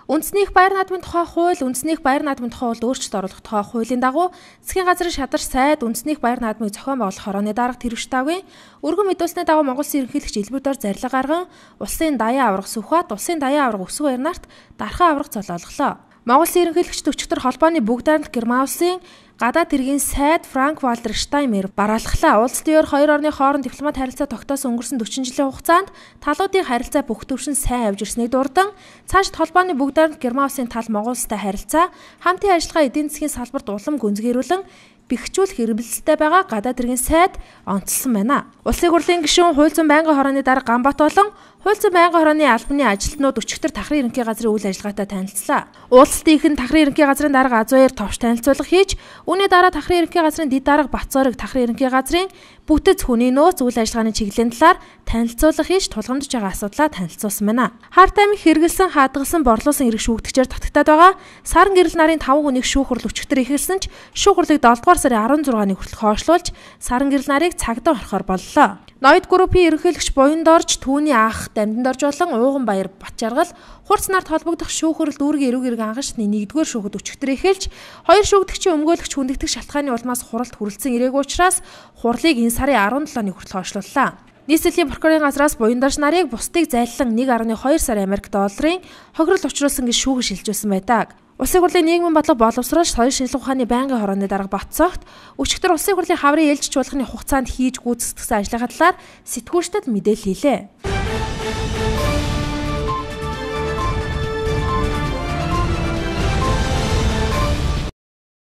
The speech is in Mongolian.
Үндэсний их байр наадмын тухай хууль, үндэсний их байр наадмын тухай өөрчлөлт оруулах тухай хуулийн дагуу засгийн газрын шадарч сайд үндэсний их байр наадмыг зохион байгуулах хорооны дарга тэрвштэйгийн өргөн мэдүүлсний дагуу Монгол Улсын ерөнхийлөгч Илбэр Дор зарлиг гарган улсын даяан аварга Сүхбаат, улсын даяан аварга Өсгөө баяр нарт дархан аварга золиолголоо. Монгол Улсын ерөнхийлөгчд өчигдөр холбооны бүгд найрамдах Герман улсын гадаад хэргийн сайд Франк Валтер Штайнмайер бараалхлаа. Улс төр хоёр орны хооронд дипломат харилцаа тогтоосон өнгөрсөн 40 жилийн хугацаанд талуудын харилцаа бүх төвшин сайн явж ирснийг дурдан цаашид холбооны бүгд найрамдах Герман улсын тал Монгол улстай харилцаа хамтын ажиллагаа эдийн засгийн салбарт улам гүнзгийрүүлэн бэхжүүлэх эрмэлзэлтэй байгаа гадаад хэргийн сайд онцлсон байна. Улсын хурлын гишүүн Хууль зүйн байнгын хорооны дарга Ганбат болон Хууль зүйн байнгын хорооны албаны ажилтнууд өчигдөр Тахрын ерөнхий газрын үйл ажиллагаатай танилцлаа. Уулзалтын ихэнд Тахрын ерөнхий газрын дарга Азууяр товч танилцуулга хийж, үүний дараа Тахрын ерөнхий газрын дэд дарга Бацоорыг Тахрын ерөнхий газрын бүтэц хүний нөөц үйл ажиллагааны чиглэлийн талаар танилцуулга хийж тулгамдж байгаа асуудлаа танилцуулсан байна. Харт амиг хэрэгэлсэн, хадгалсан, борлуулсан эрх шүүгдэгчээр татагтаад байгаа саран гэрэл нарын 5 хүнийг шүүх хурал өчигдөр эхэлсэн ч шүүх хурлыг 7 дугаар сарын 16-ны хүртэл хойшлуулж саран гэрэл нарыг цагдаа орохоор боллоо. Ноёд группийн ерөнхийлөгч Буян Дорж, түүний ах Дамдан Дорж болон Ууган Баяр Батжаргал хурц нарт холбогдох шүүх хурал дүүргийн эрүүг эрг ангашны 1-р шүүхэд өчигдөр эхэлж, хоёр шүүгдэгчийн өмгөөлөгч хүндэгдэх шалтгааны улмаас хуралд хүрэлцэн ирээгүй учраас хурлыг энэ сарын 17-ны хүртэл хойшлууллаа. Нийслэлийн прокурорын газраас Буян Дорж нарыг бусдыг зайлан 1.2 сая Америк долларын хохирол учруулсан гэж шүүгэн шилжүүлсэн байдаг. Улсын хурлын нийгмийн бодлого боловсруулж соёл шинжилгээ ухааны байнгын хорооны дарга Батцогт өчигдөр улсын хурлын хаврын ээлжиж чуулганы хугацаанд хийж гүйцэтгэсэн ажлынхаа талаар сэтгүүлчдэд мэдээлэл хийлээ.